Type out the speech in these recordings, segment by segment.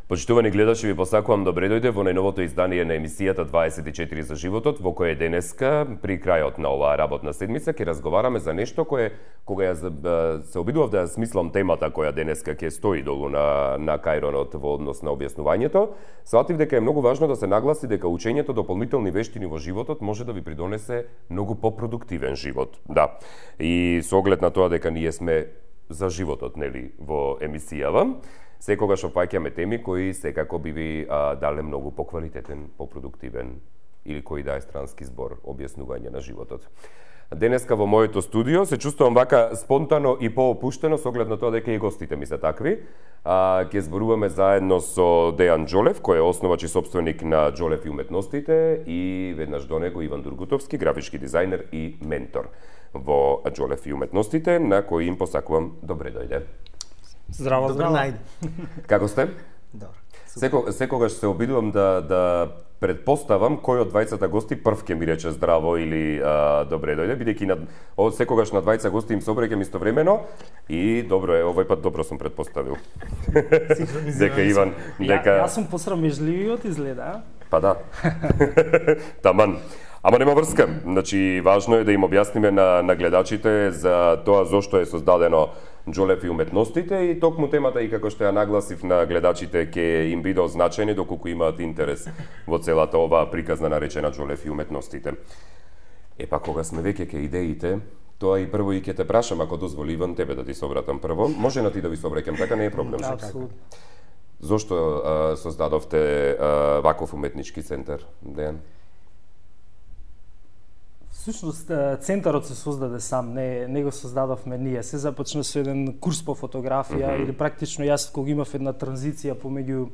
Почитувани гледачи, ви посакувам добре дојде во најновото издание на емисијата 24 за животот, во која денеска, при крајот на оваа работна седмица, ќе разговараме за нешто кое, кога се обидував да ја смислам темата која денеска ќе стои долу на кајронот во однос на објаснувањето, сватив дека е многу важно да се нагласи дека учењето дополнителни вештини во животот може да ви придонесе многу попродуктивен живот. Да. И со оглед на тоа дека ние сме за животот, нели, во емисијава, секогаш опаќаме теми кои секако би ви дале многу поквалитетен, попродуктивен или кој да е странски збор објаснување на животот. Денеска во моето студио се чувствувам вака спонтано и поопуштено со оглед на тоа дека и гостите ми се такви. Ќе зборуваме заедно со Дејан Џолев, кој е основач и сопственик на Џолев и уметностите, и веднаш до него Иван Дургутовски, графички дизајнер и ментор во Џолев и уметностите, на кој им посакувам добре дојде. Здраво, здраво. Како сте? Добро. Секогаш се обидувам да предпоставам кој од двајцата гости прв ќе ми рече здраво или добре дојде, бидејќи секогаш на двајца гости им се обреќам истовремено и добро е, овој пат добро сум предпоставил. Дека Иван, дека Јас сум посрамежливиот изгледа. Па да. Таман. Ама нема врска. Значи, важно е да им објасниме на гледачите за тоа зошто е создадено Џолев и уметностите и токму темата и како што ја нагласив на гледачите ќе им биде означени доколку имаат интерес во целата оваа приказна наречена Џолев и уметностите. Епа кога сме веќе ке идеите, тоа и прво и ќе те прашам, ако дозволи Иван, тебе да ти се обратам прво. Може на ти да ви се обраќам, така не е проблем. Апсолутно. Зошто создадовте ваков уметнички центар, Дејан? Всушност, центарот се создаде сам, не го создадовме ние. Се започна со еден курс по фотографија, или практично јас кога имав една транзиција помеѓу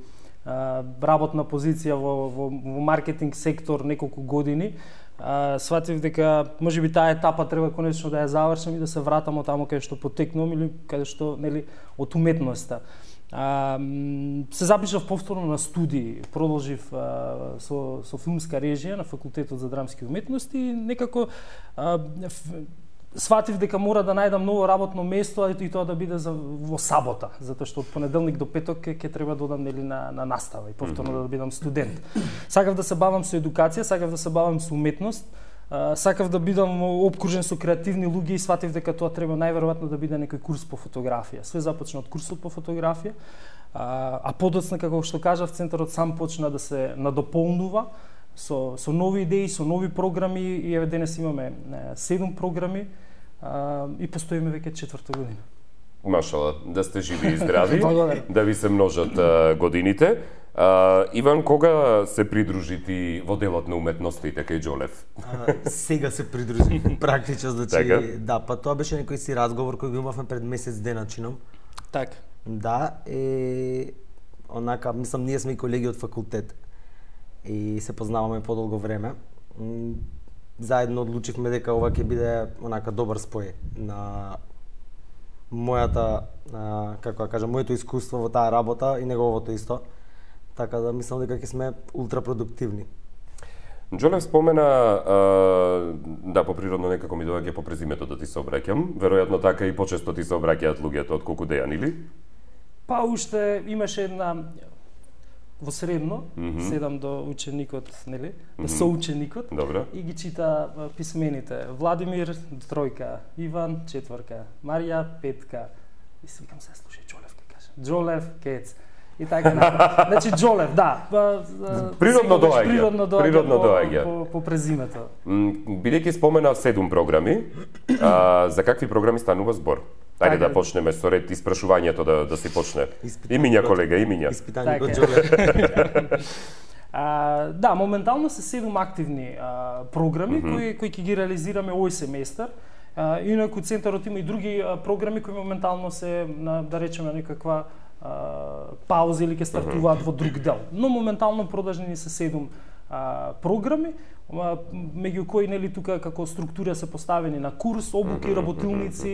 работна позиција во маркетинг сектор неколку години, сватив дека можеби таа етапа треба конечно да ја завршам и да се вратам од таму каде што потекнувам или каде што, нели, од уметноста. Се запишав повторно на студии, продолжив со филмска режија на факултетот за драмски уметности и некако сватив дека мора да најдам ново работно место и тоа да биде во сабота, затоа што од понеделник до петок ќе треба да одам, нели, на настава и повторно да бидам студент. Сакав да се бавам со едукација, сакав да се бавам со уметност, сакав да бидам опкружен со креативни луѓе и сватив дека тоа треба најверојатно да биде некој курс по фотографија. Све започна од курсот по фотографија, а подоцна, како што кажав, центарот сам почна да се надополнува со нови идеи, со нови програми и еве денес имаме 7 програми и постоиме веќе 4-та година. Машала, да сте живи и здрави, да ви се множат годините. Иван, кога се придружи ти во делот на уметностите кај Џолев? Сега се придружи, практично, значи, така? Да, па тоа беше некој си разговор кој го имавме пред месец дена, чином. Така. Да, онака, мислам, ние сме и колеги од факултет и се познаваме подолго време. Заедно одлучивме дека ова ќе биде онака добар спој на мојата, како да кажам, моето искуство во таа работа и неговото исто. Така да мислам дека ќе сме ултрапродуктивни. Џолев спомена, да, поприродно некако ми доаѓа по презимето да ти се обраќам. Веројатно така и почесто ти се обраќаат луѓето од колку Дејан, или? Па уште имаше една во средно, седам до ученикот, нели, до соученикот. Добро. И ги чита писмените. Владимир 3, Иван 4, Марија 5. И си викам, се слушај, Џолев ке каже. Џолев, кец. И така напред. Значи Џолев, да. Природно доаѓа. Природно доаѓа. По презимето. Бидејќи спомена 7 програми, за какви програми станува збор? Ајде да почнеме со ред испрашувањето да се почне. Имиња, колега, имиња. Испитаникот Џолев. Да, моментално се 7 активни програми кои ќе ги реализираме овој семестар. Инаку центарот има и други програми кои моментално се, да речеме, некаква пауза или ќе стартуваат во друг дел. Но моментално продолжени се 7 програми, меѓу кои, нели, тука како структура се поставени на курс, обуки, работилници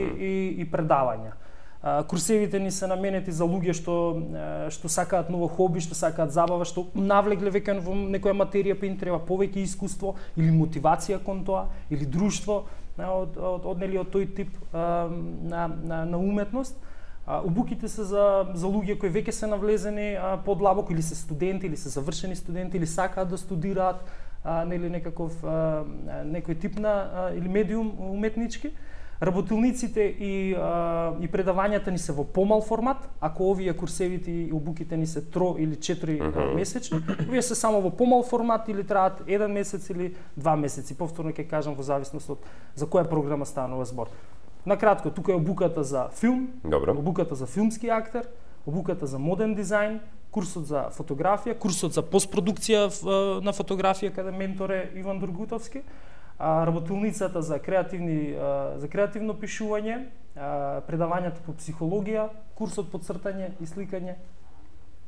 и предавања. Курсевите ни се наменети за луѓе што сакаат ново хоби, што сакаат забава, што навлегле веќе во некоја материја, па им треба повеќе искуство или мотивација кон тоа, или друштво од тој тип на уметност. Обуките се за луѓе кои веќе се навлезени подлабоко или се студенти или се завршени студенти или сакаат да студираат нели некој тип на или медиум уметнички. Работилниците и предавањата ни се во помал формат, ако овие курсевите и обуките ни се 3 или 4 месечни, овие се само во помал формат или траат 1 месец или 2 месеци. Повторно ќе кажам во зависност од за која програма станува збор. Накратко, тука е обуката за филм, обуката за филмски актер, обуката за моден дизајн, курсот за фотографија, курсот за постпродукција на фотографија каде ментор е Иван Дургутовски, работилницата за креативно пишување, предавањето по психологија, курсот по цртање и сликање.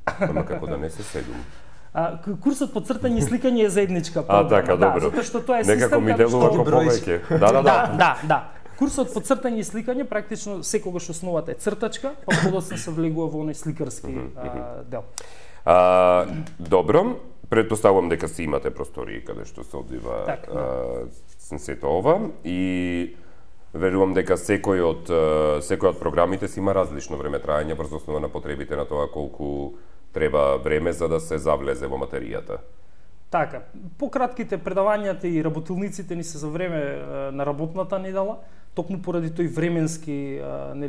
Ама како да не се седум? Курсот по цртање и сликање е заедничка програма. Така, добро. Затоа што тоа е систем некако ми делува како повеќе. Да. Курсот по цртање и сликање практично секогаш основата е цртачка, па подоцна се влегува во оној сликарски дел. Добро, претпоставувам дека си имате простории каде што се одвива сето ова и верувам дека секој од програмите си има различно време траење врз основа на потребите на тоа колку треба време за да се завлезе во материјата. Така, пократките предавањата и работилниците ни се за време на работната недела, токму поради тој временски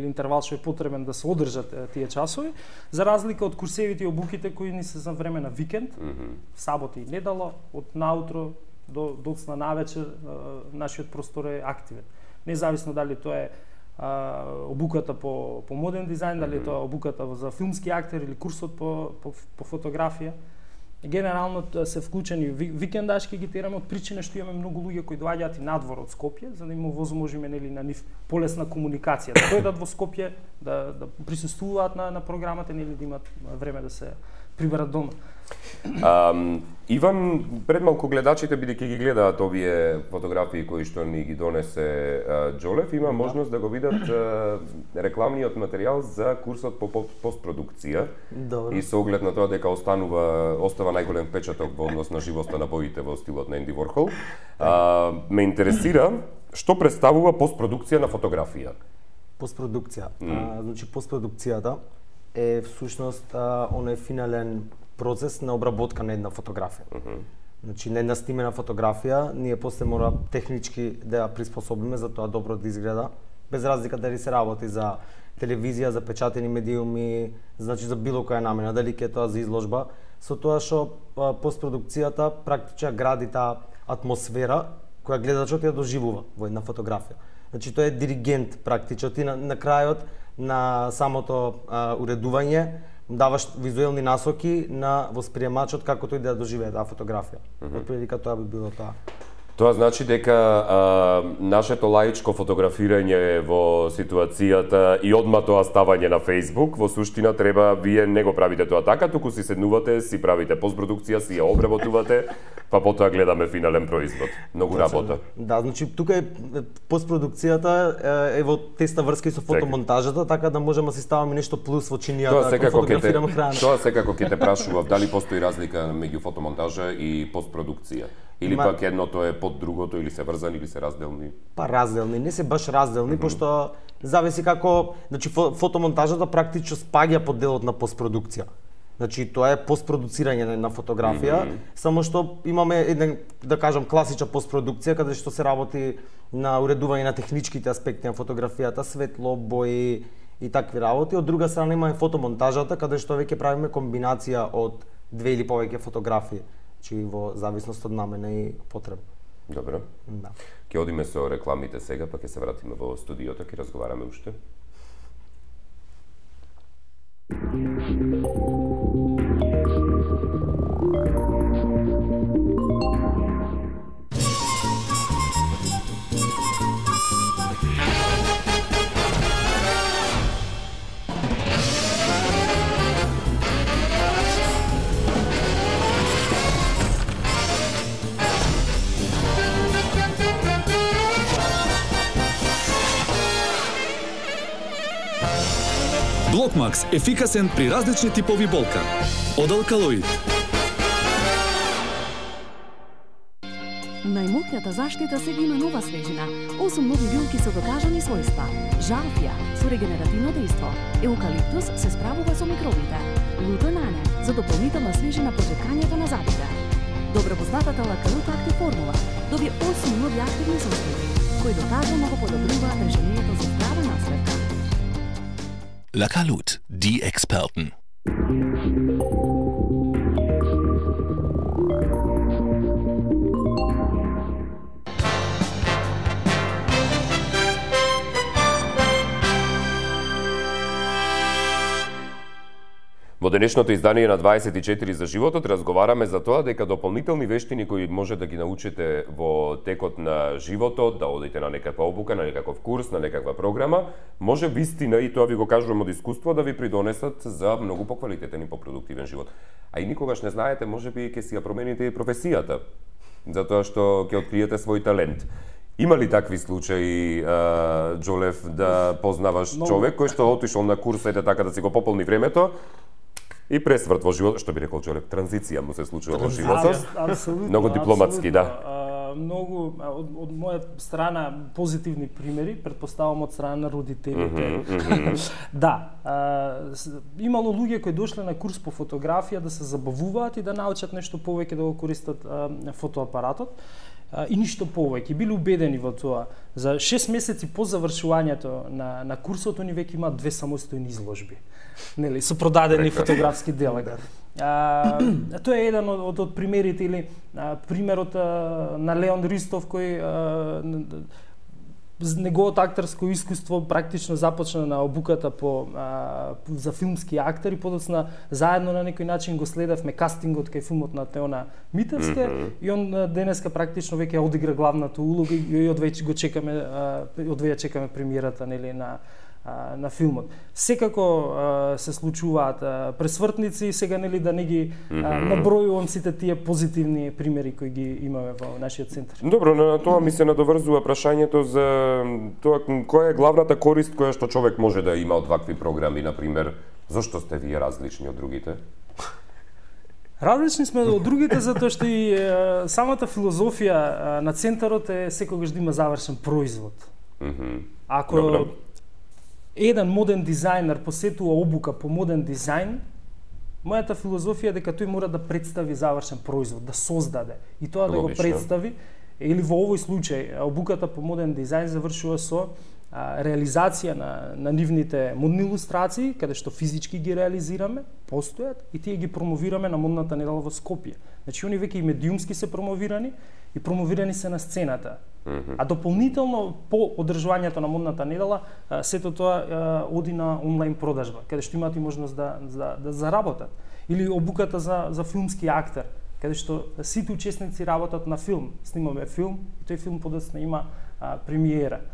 интервал што е потребен да се одржат тие часови, за разлика од курсевите и обуките кои ни се за време на викенд, сабота и недела, од наутро до доцна навечер, нашиот простор е активен. Независно дали тоа е обуката по моден дизајн, дали тоа е обуката за филмски актер или курсот по фотографија. Генерално се вклучени викендашки ги тераме од причина што имаме многу луѓе кои доаѓаат и надвор од Скопје, за да им овозможиме нели на нив полесна комуникација, да дојдат во Скопје, да присуствуваат на програмата, нели да имат време да се приберат дома. Иван, пред малку гледачите, бидејќи ги гледаат овие фотографии кои што ни ги донесе Џолев, има можност да го видат рекламниот материјал за курсот по постпродукција. И со оглед на тоа дека остава најголем впечаток во однос на живоста на боите во стилот на Енди Ворхол. Ме интересира што представува постпродукција на фотографија. Постпродукција. Значи постпродукцијата е всушност оној финален процес на обработка на една фотографија. Значи, на една снимена фотографија, ние после мора технички да ја приспособиме за тоа добро да изгледа, без разлика дали се работи за телевизија, за печатени медиуми, значи за било која намена, дали ќе тоа за изложба, со тоа што постпродукцијата практично гради таа атмосфера која гледачот ја доживува во една фотографија. Значи, тоа е диригент практично, ти на крајот на самото уредување даваш визуелни насоки на восприемачот како тој да доживее таа фотографија. Отприлика тоа би било тоа. Тоа значи дека нашето лаичко фотографирање во ситуацијата и одма тоа ставање на Facebook, во суштина треба, вие не го правите тоа така, туку си седнувате, си правите постпродукција, си ја обработувате, па потоа гледаме финален производ. Многу работа. Да, значи тука е постпродукцијата е во теста врска и со фотомонтажата, така да можеме да си ставаме нешто плюс во чинијата ако фотографираме храна. Тоа секако ќе те прашував дали постои разлика меѓу фотомонтажа и постпродукција. Или пак едното е под другото, или се врзани, или се разделни? Па разделни, не се баш разделни, пошто зависи како, значи фотомонтажата практично спаѓа под делот на постпродукција. Значи тоа е постпродуцирање на фотографија, само што имаме еден, да кажам, класична постпродукција каде што се работи на уредување на техничките аспекти на фотографијата, светло, бои и такви работи. Од друга страна имаме фотомонтажата каде што веќе правиме комбинација од две или повеќе фотографии, значи во зависност од намена и потреба. Добро. Да. Ќе одиме со рекламите сега, па ќе се вратиме во студиото, ќе разговараме уште. Блокмакс – ефикасен при различни типови болка. Од Алкалоид. Најмократа заштита сега има нова свежина, 8 нови билки со докажани својства. Жалфија со регенеративно дејство. Еукалиптус се справува со микробите. Лутонане за дополнителна свежина по чекањето на зъбите. Добро познатата Лакалут Актив формула добија 8 нови активни состојби, кои докажано го подобруваат решението за здрава насветка. Lakalut, die Experten. Во денешното издание на 24 за животот разговараме за тоа дека дополнителни вештини кои може да ги научите во текот на животот, да одите на некаква обука, на некаков курс, на некаква програма, може вистина, и тоа ви го кажувам од искуство, да ви придонесат за многу поквалитетен и попродуктивен живот. А и никогаш не знаете, можеби ќе си ја промените и професијата, затоа што ќе откриете свој талент. Има ли такви случаи, Џолев, да познаваш човек кој што отишол на курс, ете така да си го пополни времето, и пресврт во живот, што би рекол Џолев, транзиција му се случува во животот. Апсолутно. Многу дипломатски, да. Многу од моја страна позитивни примери, претпоставам од страна на родителите. Да, имало луѓе кои дошле на курс по фотографија да се забавуваат и да научат нешто повеќе да го користат фотоапаратот. И ништо повеќе. Биле убедени во тоа. За 6 месеци по завршувањето на курсот, они веќе имаат 2 самостојни изложби. Нели, со продадени фотографски дела. Тоа е еден од примерите, или примерот на Леон Ристов, кој неговото актерско искуство практично започна на обуката за филмски актери, подоцна заедно на некој начин го следевме кастингот кај филмот на Теона Митевска и он денеска практично веќе одигра главната улога и одвеќе го чекаме, чекаме премиерата, нели, на филмот. Секако се случуваат пресвртници, сега, нели, да не ги набројувам сите тие позитивни примери кои ги имаме во нашиот центар. Добро, на тоа ми се надоврзува прашањето за тоа која е главната корист која што човек може да има од вакви програми, на пример. Зошто сте вие различни од другите? Различни сме од другите затоа што и самата филозофија на центарот е секогаш да има завршен производ. Ако еден моден дизајнер посетува обука по моден дизајн, мојата филозофија е дека тој мора да представи завршен производ, да создаде. И тоа да го представи, или во овој случај, обуката по моден дизајн завршува со реализација на нивните модни илустрации, каде што физички ги реализираме, постојат, и тие ги промовираме на модната недела во Скопје. Значи, они веќе и медиумски се промовирани, и промовирани се на сцената. А дополнително по одржувањето на модната недела, сето тоа оди на онлайн продажба, каде што имаат и можност да заработат. Или обуката за филмски актер, каде што сите учесници работат на филм. Снимаме филм и тој филм подоцна има премиера.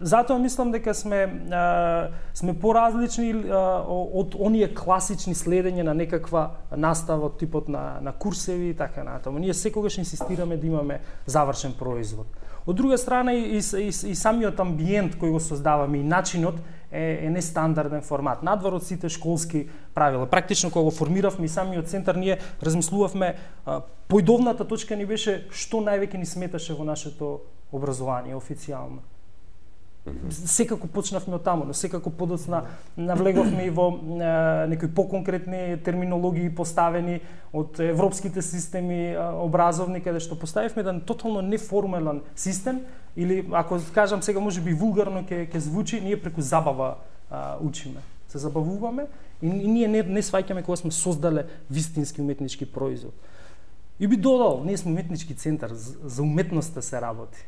Затоа мислам дека сме поразлични од оние класични следење на некаква настава од типот на курсеви и така натаму. Ние секогаш инсистираме да имаме завршен производ. Од друга страна и самиот амбиент кој го создаваме и начинот е нестандарден формат. Надвор од сите школски правила. Практично кога го формиравме и самиот центар, ние размислувавме, поидовната точка ни беше што највеќе ни сметаше во нашето образование официјално. Секако почнавме од таму, но секако подоцна навлеговме и во некои поконкретни терминологии поставени од европските системи образовни, каде што поставивме еден тотално неформален систем, или ако кажам сега можеби вулгарно ќе звучи, ние преку забава учиме. Се забавуваме и ние не сваќаме кога сме создале вистински уметнички производ. И би додал, ние сме уметнички центар, за уметноста се работи.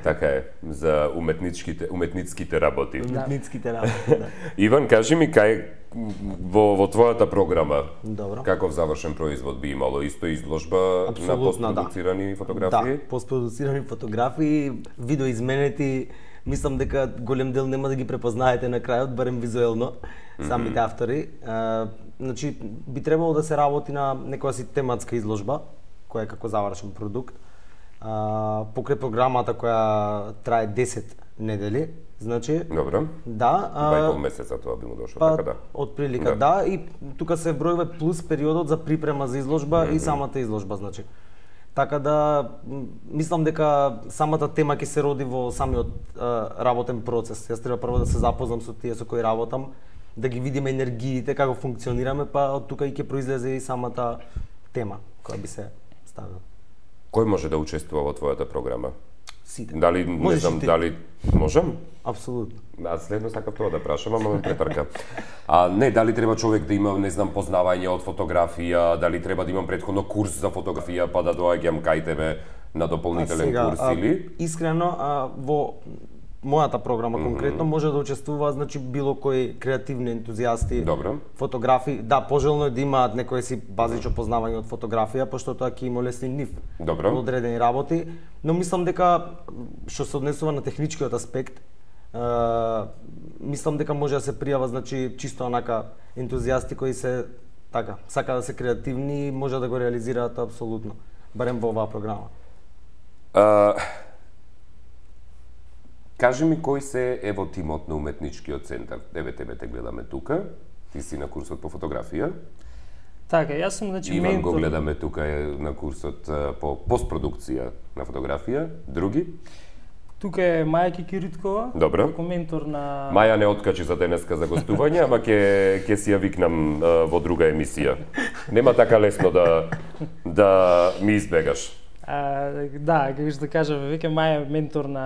Така е, за уметницките работи. Уметницките работи, да. Иван, кажи ми кај во твојата програма, Добро. Каков завршен производ би имало? Исто изложба на постпродуцирани фотографии? Да, постпродуцирани фотографии, видеоизменети, мислам дека голем дел нема да ги препознаете на крајот, барем визуелно, самите автори. Значи, би требало да се работи на некоја си тематска изложба, која е како завршен продукт. Покрај програмата која трае 10 недели, значи... Добро. Да. 2,5 месеца тоа би му дошло, така да. Од прилика, да, и тука се бројува плюс периодот за припрема за изложба и самата изложба, значи. Така да мислам дека самата тема ќе се роди во самиот работен процес. Јас треба прво да се запознам со тие со кои работам, да ги видиме енергиите како функционираме, па од тука и ќе произлезе и самата тема која би се ставила. Кој може да учествува во твојата програма? Сите. Дали не знам дали можам? Апсолутно. Аз следно сакав тоа да прашам, ама ме претрка. Не, дали треба човек да има, не знам, познавање од фотографија, дали треба да имам претходно курс за фотографија, па да доаѓам кај тебе на дополнителен курс или? Искрено, во мојата програма конкретно може да учествува, значи, било кои креативни ентузијасти, Добро. фотографи. Да, пожелно е да имаат некој си базично познавање од фотографија, пошто тоа ќе им олесни нив Добро. во одредени работи, но мислам дека што се однесува на техничкиот аспект, мислам дека може да се пријава, значи, чисто онака ентузијасти кои се така, сака да се креативни и може да го реализираат апсолутно, барем во оваа програма. Кажи ми кој се е во тимот на уметничкиот центар? Тебе те гледаме тука. Ти си на курсот по фотографија. Така, јас сум, значи, Иван ментор. го гледаме тука на курсот по постпродукција на фотографија. Други? Тука е Маја Кикириткова, Добро. како ментор на... Маја не откачи за денеска за гостување, ама ќе си ја викнам во друга емисија. Нема така лесно да ми избегаш. Да, како што кажа, веќе Маја е ментор на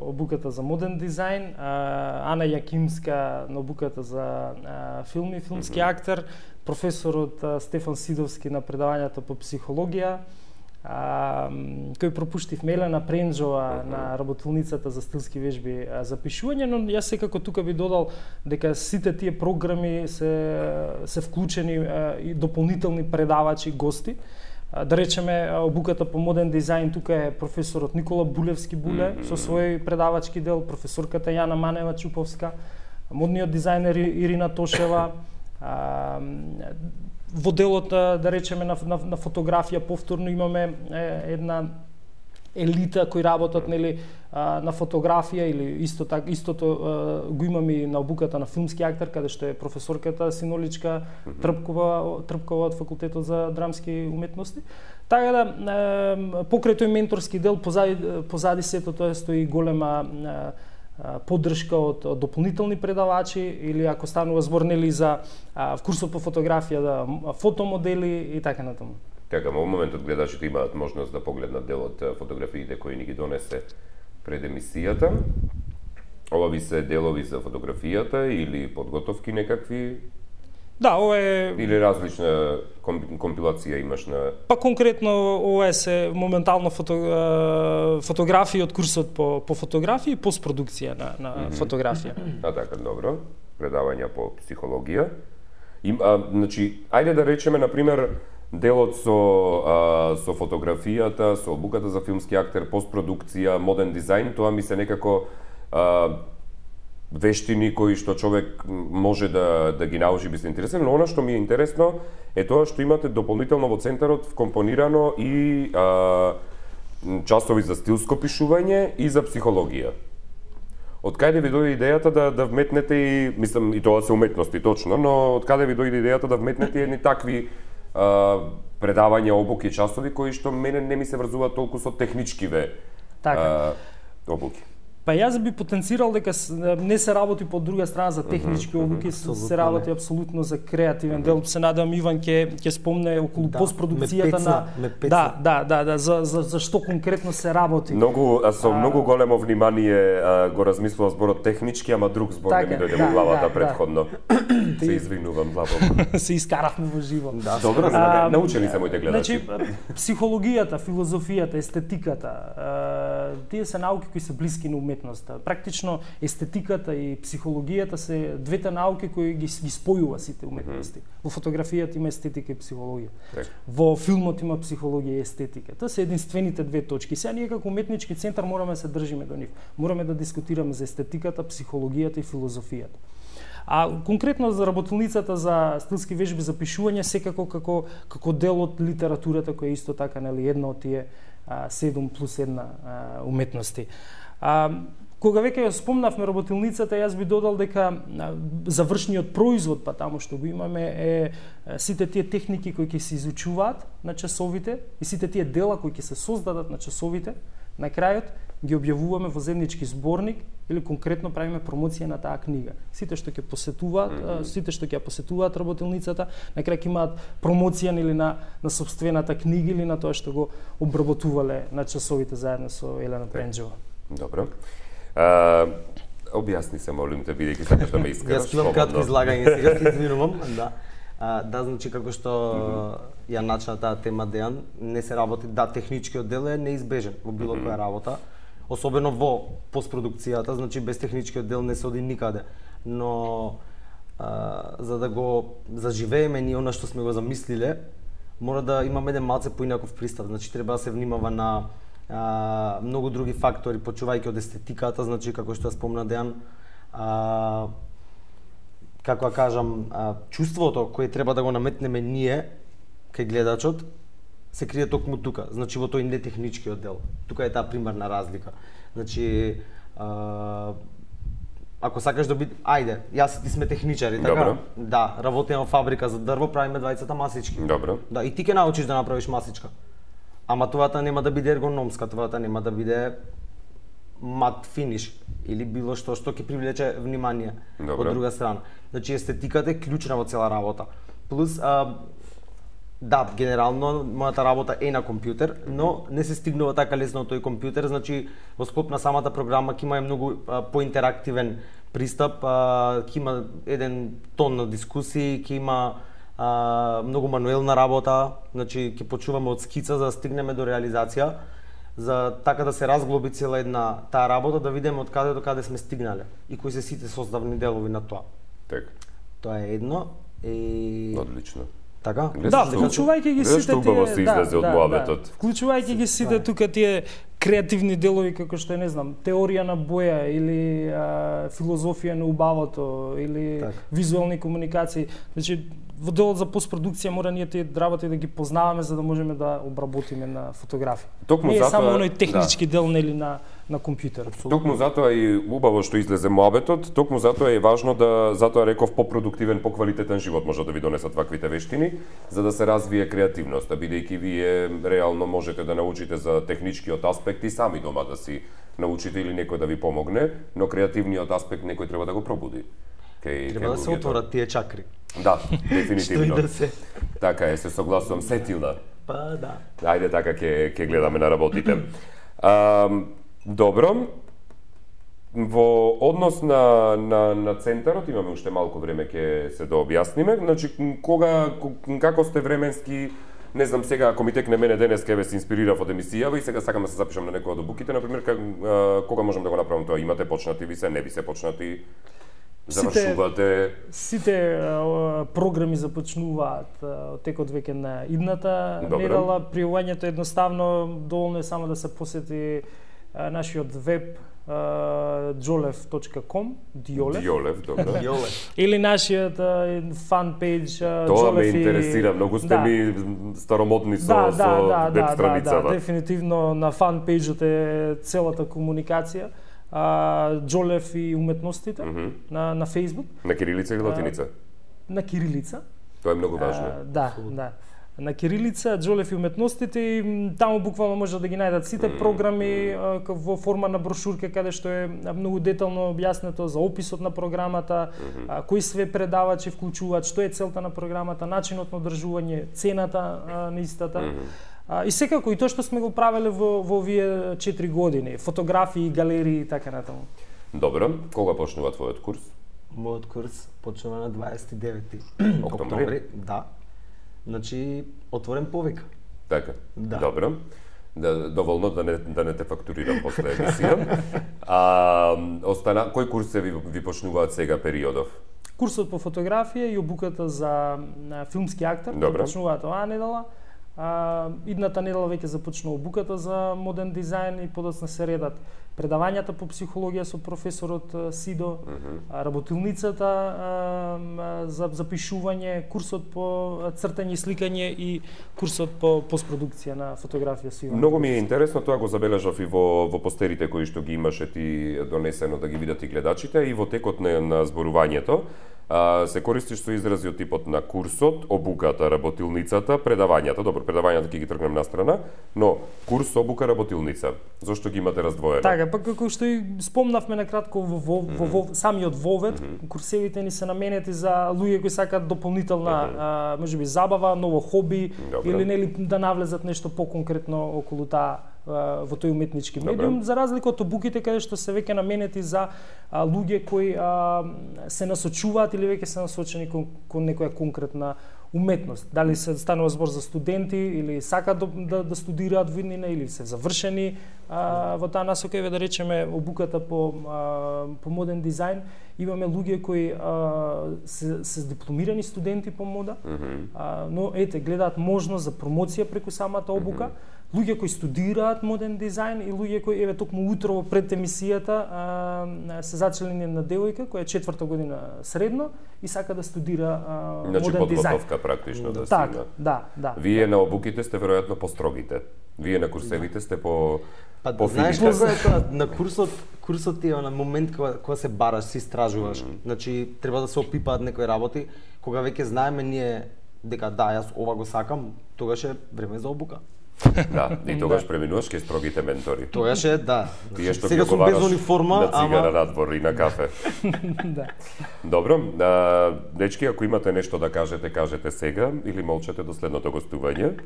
обуката за модерн дизајн, Ана Јакимска на обуката за филм и филмски актер, професорот Стефан Сидовски на предавањето по психологија, кој пропуштив Мелена Пренџова на работилницата за стилски вежби за пишување, но јас секако тука би додал дека сите тие програми се вклучени и дополнителни предавачи, гости. Да речеме, обуката по модерн дизајн, тука е професорот Никола Булевски Буле со свој предавачки дел, професорката Јана Манева Чуповска, модниот дизајнер Ирина Тошева, во делот, да речеме, на фотографија повторно имаме една елита кои работат, нели, на фотографија, или истото го имаме и на обуката на филмски актер, каде што е професорката Синоличка Трпкова од факултетот за драмски уметности. Така да, покрај тој менторски дел, позади сето тоа стои голема поддршка од дополнителни предавачи, или ако станува збор, нели, за курсот по фотографија, да, фотомодели и така натаму. Така, во моментот гледачите имаат можност да погледнат дел од фотографиите кои ни ги донесе пред емисијата. Ова ви се делови за фотографијата или подготовки некакви? Да, ова е... Или различна компилација имаш на... Па конкретно ова е се моментално фотографии од курсот по фотографија и постпродукција на фотографија. Така, добро. Предавања по психологија. Значи, ајде да речеме, например, делот со фотографијата, со обуката за филмски актер, постпродукција, модерн дизајн, тоа ми се некако вештини кои што човек може да ги научи, би се интересен, но она што ми е интересно е тоа што имате дополнително во центарот вкомпонирано и часови за стилско пишување и за психологија. Од каде ви дојде идејата да вметнете и, мислам, и тоа се уметности точно, но од каде ви дојде идејата да вметнете едни такви предавања, обуки, часови кои што мене не ми се врзуваат толку со техничкиве обуки? Па јас би потенцирал дека не се работи по друга страна за технички обуки, се работи апсолутно за креативен дел. Се надам Иван ќе спомне околу постпродукцијата на за што конкретно се работи. Со многу големо внимание го размислував зборот технички, ама друг збор не ми дојде во главата претходно. Се извинувам, длабоко. Се искаравме во живо. Добро, научени се моите гледачи. Значи, психологијата, филозофијата, естетиката, тие се науки кои се блиски на уметноста. Практично естетиката и психологијата се двете науки кои ги спојува сите уметности. Во фотографијата има естетика и психологија. Во филмот има психологија и естетика. Тоа се единствените две точки. Сега ние како уметнички центар мораме да се држиме до нив. Мораме да дискутираме за естетиката, психологијата и филозофијата. А конкретно за работилницата за стилски вежби за пишување, секако како дел од литературата која е исто така, нели, една од тие 7+1 уметности. Кога веќе ја спомнавме работилницата, јас би додал дека завршниот производ, па таму што го имаме, е сите тие техники кои ќе се изучуваат на часовите и сите тие дела кои ќе се создадат на часовите, на крајот ги објавуваме во заеднички зборник или конкретно правиме промоција на таа книга. Сите што ќе посетуваат, сите што ќе посетуваат работилницата, на крај ќе имаат промоција или на сопствената книга или на тоа што го обработувале на часовите заедно со Елена Пенџева. Добро. Објасни се, молим те, бидејќи сакаш да ме искраш. Јас имам кратко излагање сега, се извинувам, да. Да, значи како што ја начна таа тема Дејан, не се работи, да, техничкиот дел е неизбежен во било која работа, особено во постпродукцијата, значи без техничкиот дел не се оди никаде. Но за да го заживееме ние она што сме го замислиле, мора да имаме еден малце поинаков пристап, значи треба да се внимава на многу други фактори, почувајќи од естетиката, значи како што ја спомна Дејан, како ја кажам, чувството кое треба да го наметнеме ние кај гледачот се крие токму тука, значи во тој нетехничкиот дел. Тука е таа примарна разлика. Значи ако сакаш да биде, ајде, јас и ти сме техничари, така? Добро. Да, работиме во фабрика за дрво, правиме двајцата масички. Добро. Да, и ти ќе научиш да направиш масичка. Ама тоата нема да биде ергономска, тоата нема да биде мат финиш или било што ќе привлече внимание. Добро. Од друга страна. Значи естетиката е клучна во цела работа. Плюс да, генерално мојата работа е на компјутер, но не се стигнува така лесно од тој компјутер, значи во склоп на самата програма ќе има многу поинтерактивен пристап, ќе има еден тон на дискусии, ќе има многу мануелна работа, значи ќе почуваме од скица за да стигнеме до реализација, за така да се разглоби цела една таа работа, да видиме од каде до каде сме стигнале и кои се сите составни делови на тоа. Така. Тоа е едно и Одлично. така? Да, вклучувајќи ги сите тие... убаво се излезе од муабетот. Вклучувајќи ги сите тука тие креативни делови како што е, не знам, теорија на боја или филозофија на убавото или визуелни комуникации. Значи во делот за постпродукција мора ние тие работи да ги познаваме за да можеме да обработиме на фотографија. Токму не е затоа, само оној технички дел нели на компјутер. Токму затоа и убаво што излезе муабетот, токму затоа е важно да, затоа реков попродуктивен, поквалитетен живот може да ви донесат ваквите вештини, за да се развие креативноста, бидејќи вие реално можете да научите за техничкиот аспект и сами дома да си научите или некој да ви помогне, но креативниот аспект некој треба да го пробуди. Треба да се отворат тие чакри. Да, дефинитивно. Што и да се. Така е, се согласувам, сетила. Па да. Ајде така ќе гледаме на работите. Добро. Во однос на центарот имаме уште малку време ќе се дообјасниме. Значи како сте временски, не знам сега ако ми текне мене денеска еве се инспирирав од емисијава и сега сакам да се запишам на некоја од обуките, на пример кога можам да го направам тоа? Имате почнати ви се, не ви се почнати? Завршувате? Сите програми започнуваат од текот веќе на идната недела. Пријавувањето едноставно, доволно е само да се посети нашиот веб jolev.com, Диолев, добро. Или нашиот фан пејдж Тоа ме интересира, многу сте ми старомодни со веб страницава. Да, дефинитивно на фан пејджот е целата комуникација. Джолев и уметностите на Facebook. На кирилица или латиница? На кирилица. Тоа е многу важно. Да. На кирилица, Джолев и уметностите, и таму буквално може да ги најдат сите програми во форма на брошурка каде што е многу детално објаснето за описот на програмата, кои све предавачи вклучуваат, што е целта на програмата, начинот на одржување, цената на истата. И секако и тоа што сме го правеле во овие 4 години, фотографии, галерии и така натаму. Добро, кога почнува твојот курс? Мојот курс почнува на 29 октомври. Да. Значи отворен повика. Така. Да. Добро. Доволно да не те фактурирам после емисија. Кој курс се ви почнуваат сега периодов? Курсот по фотографија и обуката за филмски актер почнуваат оваа недела. Идната недела веќе започна обуката за модерн дизајн и подоцна се редат предавањата по психологија со професорот Сидо, работилницата за запишување, курсот по цртање и сликање и курсот по постпродукција на фотографија со Иван. Многу ми е интересно, тоа го забележав и во постерите кои што ги имаше ти донесено да ги видат и гледачите, и во текот на зборувањето. Се користиш со изрази од типот на курсот, обуката, работилницата, предавањата. Добро, предавањата ќе ги тргнем на страна, но курс, обука, работилница. Зошто ги имате раздвоено? Така, па како што и спомнавме накратко во самиот вовед, курсевите ни се наменети за луѓе кои сакаат дополнителна, можеби забава, ново хоби, или нели да навлезат нешто поконкретно околу таа во тој уметнички медиум, за разлика од обуките каде што се веќе наменети за луѓе кои се насочуваат или веќе се насочени кон некоја конкретна уметност. Дали се станува збор за студенти или сакаат да студираат во иднина или се завршени во таа насока, да речеме обуката по модерн дизајн, имаме луѓе кои се дипломирани студенти по мода, но гледаат можност за промоција преку самата обука. Луѓе кои студираат модерн дизајн и луѓе кои токму утрово пред емисијата се зачелени на девојка која е 4-та година средно и сака да студира модерн дизајн. Значи подготовка практично да се има. Да. Вие на обуките сте веројатно построгите. Вие на курсевите сте по знаеш кога е тоа на курсот е на момент кога се бараш, се истражуваш. Значи треба да се опипаат некои работи, кога веќе знаеме ние дека јас ова го сакам, тогаш е време за обука. Да, и тогаш преминуваш кај строгите ментори. Тогаш е, да. Тие што сега сум без униформа, на цигара надвор и на кафе. Да. Добро, дечки, ако имате нешто да кажете, кажете сега или молчете до следното гостување.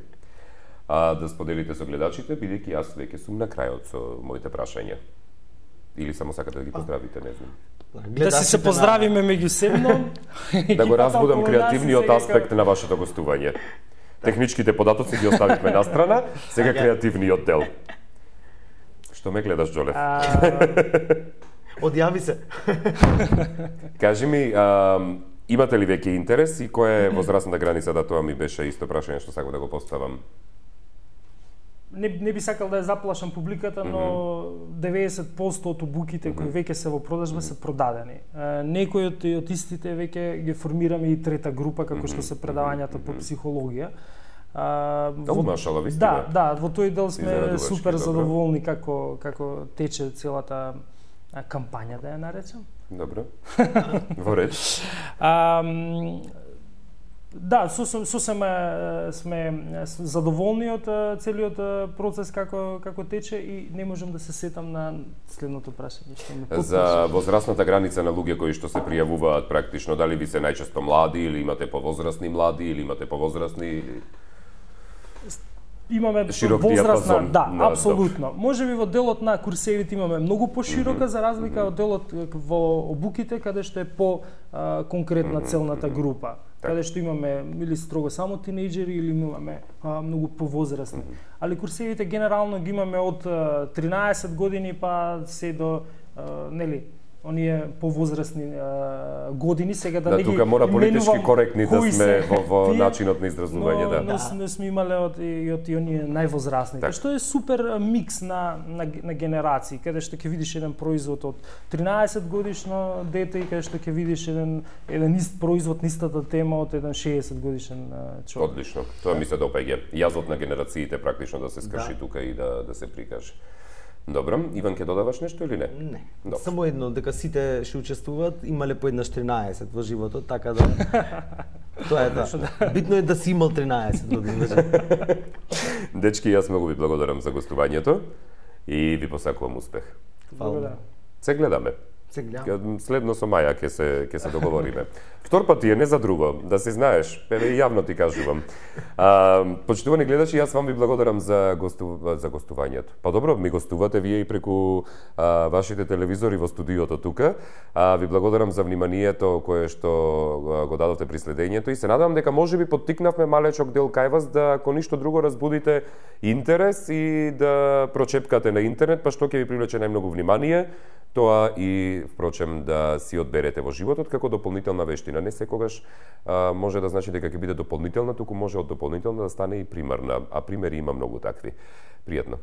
Да споделите со гледачите, бидејќи јас веќе сум на крајот со моите прашања. Или само сакате да ги поздравите, не знам. Да си се поздравиме меѓусебно. Да го разбудам креативниот аспект на вашето гостување. Техничките податоци ги оставивме на страна, сега креативниот дел. Што ме гледаш, Џолев? Одјави се. Кажи ми, имате ли веќе интерес и која е возрастната граница, да тоа ми беше исто прашање што сакам да го поставам? Не би сакал да ја заплашам публиката, но 90% од обуките кои веќе се во продажба се продадени. Некои од истите веќе ги формираме и трета група, како што се предавањата по психологија. Машала, вистина. Да, во тој дел сме супер задоволни како тече целата кампања, да ја наречам. Добро. Во ред. Да, сосем сме задоволни од целиот процес како тече и не можам да се сетам на следното прашање што ме потпуша. За возрастната граница на луѓе кои што се пријавуваат практично, дали ви се најчесто млади или имате повозрастни млади или имате повозрастни? Имаме возрастна, да, апсолутно. Можеби во делот на курсевите имаме многу поширока за разлика од делот во обуките каде што е по конкретна целната група. Каде што имаме или строго само тинејџери или имаме многу повозрастни. Али курсевите генерално ги имаме од 13 години па се до нели оние повозрастни години, сега да не ги тука мора политички коректни да сме во начинот на изразување, да. Но сме имале од оние највозрастните, што е супер микс на генерации, каде што ќе видиш еден производ од 13 годишно дете и каде што ќе видиш еден ист производ, истата тема од еден 60 годишен човек. Одлично. Тоа ми се допаѓа. Јазот на генерациите практично да се скрши тука и да се прикаже. Добро, Иван, ќе додаваш нешто или не? Не. Добро. Само едно, дека сите што учествуваат имале по еднаш 13 во животот, така да тоа е да. Битно е да си имал 13 години. Дечки, јас многу ви благодарам за гостувањето и ви посакувам успех. Благодарам. Се гледаме. Следно со Маја ќе се договориме. Втор пат е не за друго, да се знаеш, еве јавно ти кажувам. Почитувани гледачи, јас вам ви благодарам за гостувањето. Па добро, ми гостувате вие и преку вашите телевизори во студиото тука. Ви благодарам за вниманието кое што го дадовте при следењето и се надевам дека можеби поттикнавме малечок дел кај вас да ако ништо друго разбудите интерес и да прочепкате на интернет, па што ќе ви привлече најмногу внимание, тоа и впрочем да си одберете во животот како дополнителна вештина. Не секогаш може да значи дека ќе биде дополнителна, туку може од дополнителна да стане и примарна, а примери има многу такви. Пријатно.